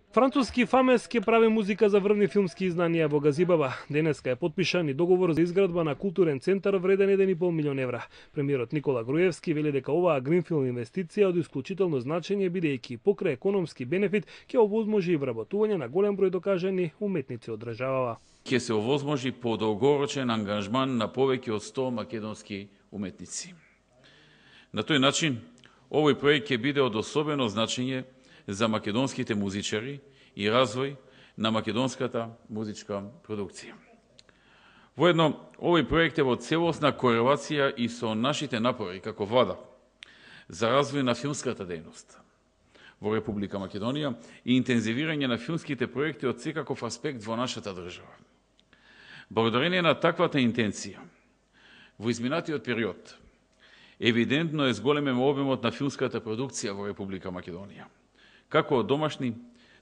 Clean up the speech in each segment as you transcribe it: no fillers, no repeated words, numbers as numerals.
Француски Фамес ќе прави музика за врвни филмски изданија во Газибаба. Денеска е потпишан и договор за изградба на културен центар вреден 1,5 милион евра. Премиерот Никола Груевски вели дека оваа гринфилд инвестиција од исклучително значење, бидејќи покрај економски бенефит ќе овозможи и вработување на голем број докажани уметници од државава. Ќе се овозможи подолгорочен ангажман на повеќе од 100 македонски уметници. На тој начин, овој проект ќе биде од особено значење за македонските музичари и развој на македонската музичка продукција. Воедно, овој проект е во целосна корелација и со нашите напори како влада за развој на филмската дејност во Република Македонија и интензивирање на филмските проекти од секаков аспект во нашата држава. Благодарение на таквата интенција, во изминатиот период, евидентно е зголемен обемот на филмската продукција во Република Македонија, како од домашни,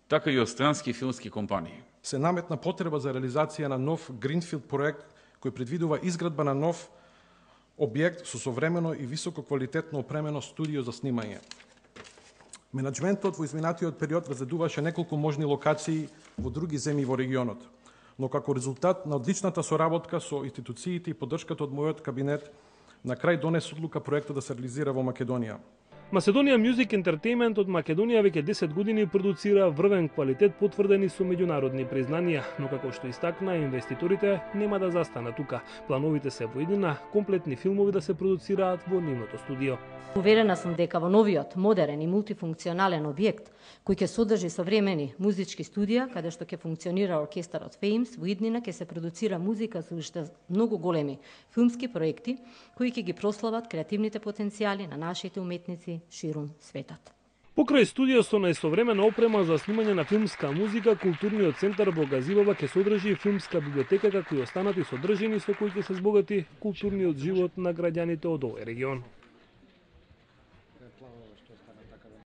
така и од странски филмски компании. Се наметна потреба за реализација на нов гринфилд проект кој предвидува изградба на нов објект со современо и високо квалитетно опремено студио за снимање. Менаџментот во изминатиот период разгледуваше неколку можни локации во други земји во регионот, но како резултат на одличната соработка со институциите и поддршката од мојот кабинет, на крај донес одлука проектот да се реализира во Македонија. Macedonian Music Entertainment од Македонија веќе 10 години продуцира врвен квалитет потврдени со меѓународни признанија, но како што истакна, инвеститорите нема да застанат тука. Плановите се во иднина комплетни филмови да се продуцираат во нивното студио. Уверена сум дека во новиот, модерен и мултифункционален објект, кој ќе содржи современи музички студија, каде што ќе функционира оркестарот Феймс, во иднина ќе се продуцира музика за уште многу големи филмски проекти, кои ќе ги прослават креативните потенцијали на нашите уметници ширум светот. Покрај студио со најсовремена опрема за снимање на филмска музика, културниот центар во Газибаба ќе содржи филмска библиотека, како и останати содржини со кои ќе се збогати културниот живот на граѓаните од овој регион.